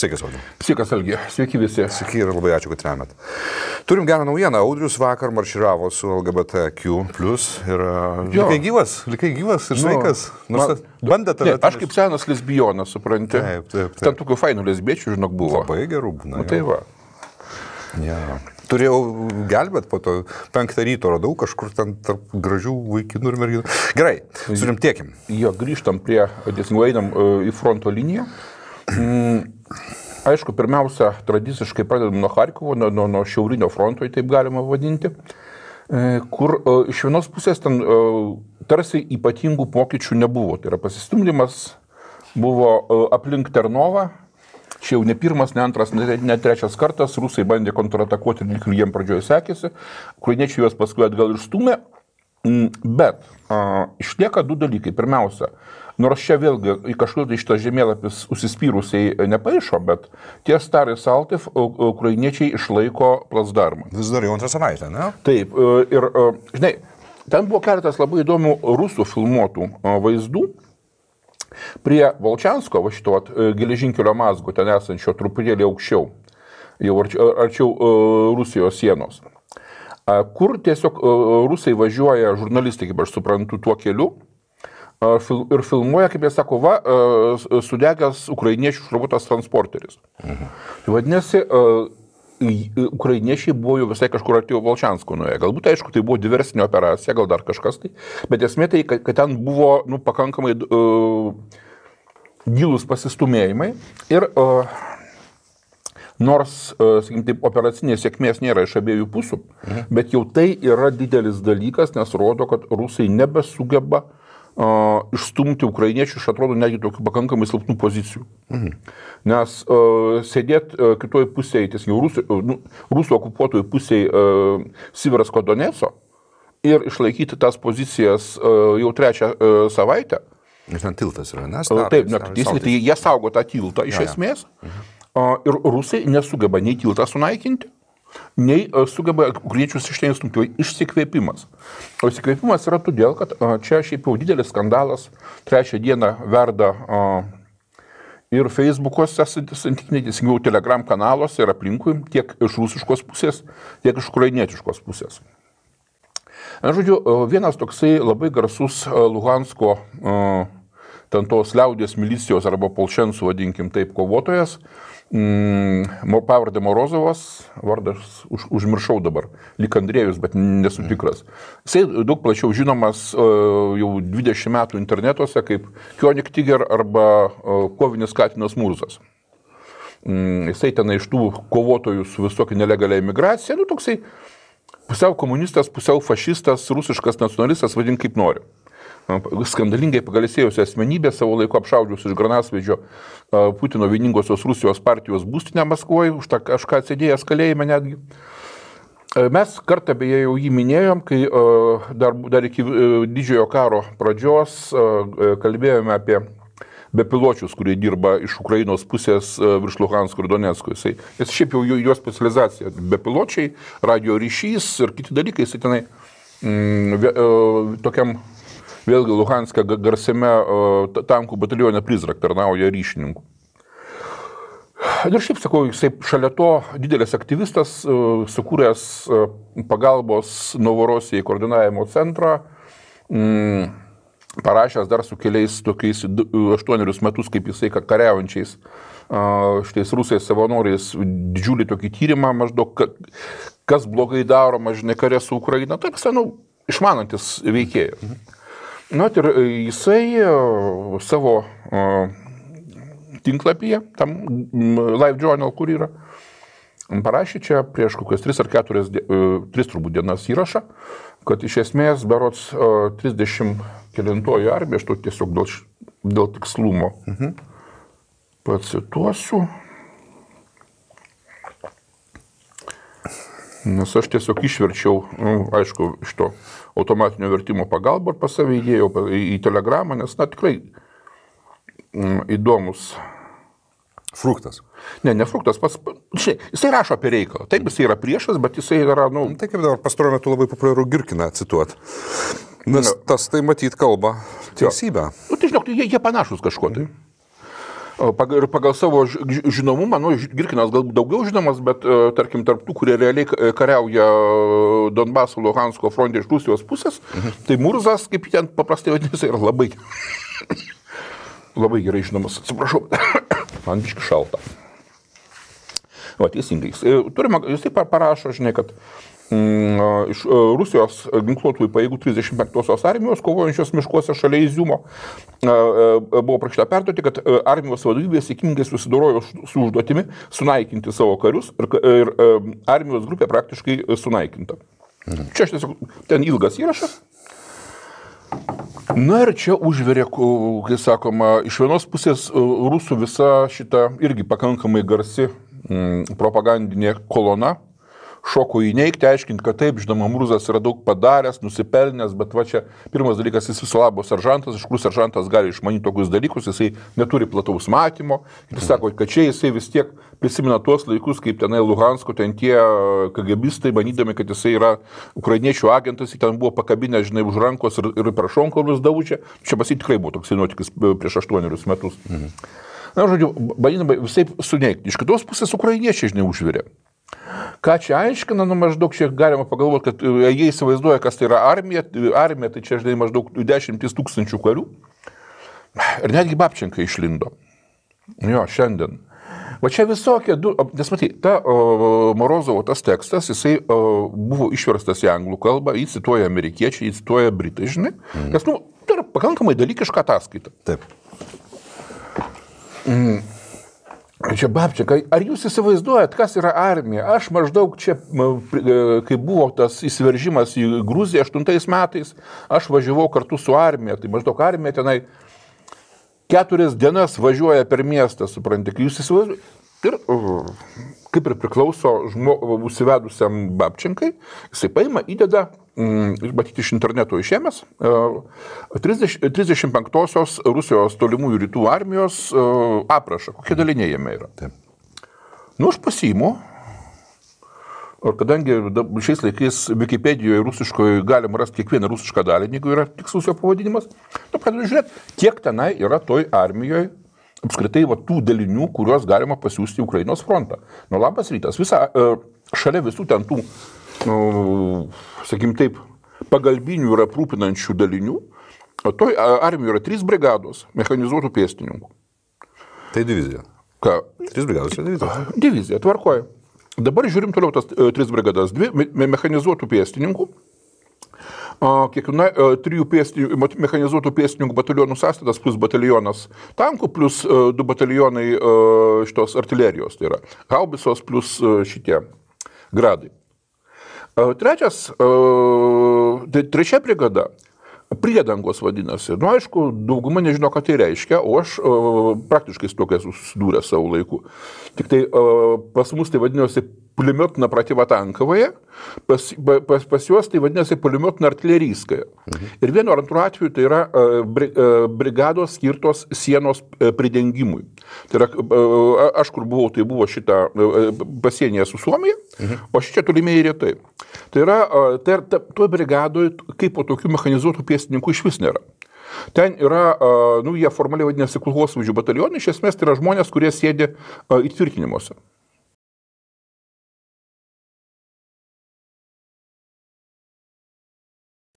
Sveikas, Audriu. Sveikas, Algi. Sveiki visi. Sveiki ir labai ačiū, kad remet. Turim gerą naujieną. Audrius vakar marširavo su LGBTQ+. Ir likai gyvas ir sveikas. Bandė tave. Aš kaip senas lesbionas, supranti. Taip. Ten tokių fainų lesbiečių, žinok, buvo. Labai gerų būna. Tai va. Ja. Turėjau gelbėt, po to 5 ryto radau kažkur ten tarp gražių vaikinų ir merginų. Gerai, surimtėkim. Jo, grįžtam prie, einam į fronto liniją. Aišku, pirmiausia, tradiciškai pradedam nuo Charkovo, nuo šiaurinio fronto, taip galima vadinti, kur iš vienos pusės ten tarsi ypatingų pokyčių nebuvo. Tai yra pasistumdymas buvo aplink Ternovą, čia jau ne pirmas, ne antras, ne trečias kartas, rusai bandė kontratakuoti ir jiem pradžioje sekėsi, ukrainiečiai juos paskui atgal išstūmė, bet išlieka du dalykai. Pirmiausia, nors čia vėlgi į kažkur tai šitas žemėlapis užsispyrusiai nepaišo, bet ties Starai Saltiv ukrainiečiai išlaiko placdarmą. Vis dar jau antrą savaitę, ne? Taip, ir žinai, ten buvo keletas labai įdomių rusų filmuotų vaizdų prie Volčiansko, va šito geležinkelio mazgo, ten esančio truputėlį aukščiau, jau arčiau Rusijos sienos, kur tiesiog rusai važiuoja, žurnalistai, kaip aš suprantu, tuo keliu, ir filmuoja, kaip jie sako, sudegęs ukrainiečių šrovuotas transporteris. Tai vadinasi, ukrainiečiai buvo jau visai kažkur artėjo Volčiansko nuėję. Galbūt, aišku, tai buvo diversinė operacija, gal dar kažkas tai, bet esmė tai, kad ten buvo pakankamai gilūs pasistumėjimai ir nors, sakykim, taip, operacinės sėkmės nėra iš abiejų pusių, bet jau tai yra didelis dalykas, nes rodo, kad rusai nebesugeba išstumti ukrainiečių iš, atrodo, netgi tokių pakankamai silpnų pozicijų. Nes sėdėti kitoj pusėje, tiesiog rusų okupuotojų pusėje Siversko Donetso ir išlaikyti tas pozicijas jau trečią savaitę. Ir ten tiltas yra, nes? Taip, tai jie saugo tą tiltą iš esmės. Ir rusai nesugeba nei tiltą sunaikinti, nei sugeba ukrainiečius iš ten stumti. Išsikvėpimas. O išsikvėpimas yra todėl, kad čia šiaip jau didelis skandalas trečią dieną verda ir Facebook'ose, santykinai Telegram kanaluose ir aplinkui, tiek iš rusiškos pusės, tiek iš ukrainietiškos pusės. Žodžiu, vienas toksai labai garsus Luhansko ten tos liaudės milicijos arba polšensų, vadinkim taip, kovotojas, pavardė Morozovas, vardas užmiršau dabar, lyg Andrėjus, bet nesu tikras. Jisai daug plačiau žinomas jau 20 metų internetuose kaip Kionik Tiger arba kovinis Katinas Murzas. Jisai ten iš tų kovotojų su visokia nelegalia imigracija, toksai pusiau komunistas, pusiau fašistas, rusiškas nacionalistas, vadink kaip nori. Skandalingai pagalėsėjusi asmenybė, savo laiku apšaudžius iš Granasvedžio Putino vieningosios Rusijos partijos būstinę Maskvoje, už tą kažką atsidėjęs kalėjime netgi. Mes kartą beje jau jį minėjom, kai dar iki didžiojo karo pradžios kalbėjome apie bepiločius, kurie dirba iš Ukrainos pusės virš Luhansko ir Donetsko. Jis šiaip jau jo specializacija. Bepiločiai, radio ryšys ir kiti dalykai. Jis tenai tokiam vėlgi Luhanske garsiame tankų batalione Prizrak tarnauja ryšininkų. Ir šiaip sakau, jisai šalia to didelis aktyvistas, sukūręs pagalbos Novorosijai koordinavimo centrą, parašęs dar su keliais tokiais 8 metus, kaip jisai kariaujančiais šitais rusais savanoriais, didžiulį tokį tyrimą maždaug, kas blogai daroma, žinai, kare su Ukraina. Tai išmanantis veikėjas. Ir jisai savo tinklapyje, tam Live Journal, kur yra, parašė čia prieš kokias 3 ar 4 turbūt dienas įrašą, kad iš esmės berods 39 armija, aš to tiesiog dėl tikslumo pacituosiu, nes aš tiesiog išverčiau, aišku, iš to automatinio vertimo pagalbą ir pas save įdėjau į telegramą, nes, tikrai įdomus. Fruktas. Ne fruktas, jisai rašo apie reikalą. Taip, jisai yra priešas, bet jisai yra, Tai kaip dabar pastaruoju metu labai populiaru Girkiną cituoti. Nes tas tai matyt kalba teisybę. Tai žinok, jie panašus kažkuo tai. Ir pagal savo žinomumą, Girkinas galbūt daugiau žinomas, bet tarkim, tarp tų, kurie realiai kariauja Donbaso, Luhansko fronte iš Rusijos pusės, tai Murzas, kaip ten paprastai vadinasi, yra labai, labai gerai žinomas. Atsiprašau, man biški šalta. O, teisingai. Jis taip parašo, žinai, kad iš Rusijos ginkluotųjų pajėgų 35-osios armijos, kovojančios miškuose šalia Iziumo, buvo prašyta perduoti, kad armijos vadovybė sėkmingai susidorojo su užduotimi sunaikinti savo karius ir armijos grupė praktiškai sunaikinta. Čia aš tiesiog, ten ilgas įrašas. Na ir čia užverė, kai sakoma, iš vienos pusės rusų visa šita irgi pakankamai garsi propagandinė kolona šoko įneigti, aiškinti, kad taip, žinoma, Murzas yra daug padaręs, nusipelnęs, bet va čia pirmas dalykas, jis viso labo seržantas, iš kur seržantas gali išmanyti tokius dalykus, jisai neturi plataus matymo. Ir jis sako, kad čia jisai vis tiek prisimena tuos laikus, kaip tenai Luhansko, ten tie KGBistai, manydami, kad jisai yra ukrainiečių agentas, jis ten buvo pakabinę, žinai, už rankos ir per šonkaulius daužė. Čia pas jį tikrai buvo toksai nuotykis prieš 8 metus. Na, žodžiu, bandydami visai suneigti. Iš kitos pusės ukrainiečiai, žinai, užvirė. Ką čia aiškina, maždaug čia galima pagalvoti, kad jie įsivaizduoja, kas tai yra armija, tai čia, žinai, maždaug 10 000 karių. Ir netgi Babčenka išlindo. Jo, šiandien. Va čia visokie, nes matai, Morozovo tas tekstas, jisai buvo išverstas į anglų kalbą, jį cituoja amerikiečiai, jį cituoja britai, žinai. Nes, tai yra pakankamai dalykiška ataskaita. Taip. Čia Babčenka, ar jūs įsivaizduojat, kas yra armija? Aš maždaug čia, kai buvo tas įsiveržimas į Gruziją 8 metais, aš važiavau kartu su armija, tai maždaug armija tenai 4 dienas važiuoja per miestą, supranti, kai jūs įsivaizduojat. Ir kaip ir priklauso užsivedusiam Babčenkai, jisai paima, įdeda, matyti iš interneto išėmęs, 35-osios Rusijos tolimųjų rytų armijos aprašą, kokie daliniai jame yra. Taip. Nu, aš pasiimu, ir kadangi šiais laikais Wikipedijoje rusiškoje galima rasti kiekvieną rusišką dalinį, jeigu yra tikslus jo pavadinimas, pradedu žiūrėti, kiek tenai yra toj armijoje apskritai tų dalinių, kuriuos galima pasiūsti į Ukrainos frontą. Nu, labas rytas. Šalia visų ten tų, sakykim taip, pagalbinių ir aprūpinančių dalinių, toj armijoje yra 3 brigados mechanizuotų pėstininkų. Tai divizija. Ką? 3 brigados yra divizija. Divizija, tvarkoja. Dabar žiūrim toliau tas 3 brigadas. 2 mechanizuotų pėstininkų. Kiekviena 3 mechanizuotų pėstininkų batalionų sąstatas plus batalionas tankų plus 2 batalionai šitos artilerijos, tai yra haubicos plus šitie gradai. Trečia brigada priedangos vadinasi. Nu, aišku, dauguma nežino, ką tai reiškia, o aš praktiškai su tokia susidūrė savo laiku. Tik tai pas mus tai vadinosi pulimetna protivatankovaya, pas juos tai vadinasi pulimetna artilerijskaya. Ir vienu ar antru atveju tai yra brigados skirtos sienos pridengimui. Tai yra, aš kur buvau, tai buvo šita pasienyje su Suomija, o šičia tolimieji rytai. Tai yra, toj brigadoje kaip po tokių mechanizuotų pėstininkų iš vis nėra. Ten yra, jie formaliai vadinasi kulkosvaidžių batalionai, iš esmės tai yra žmonės, kurie sėdi įtvirtinimuose.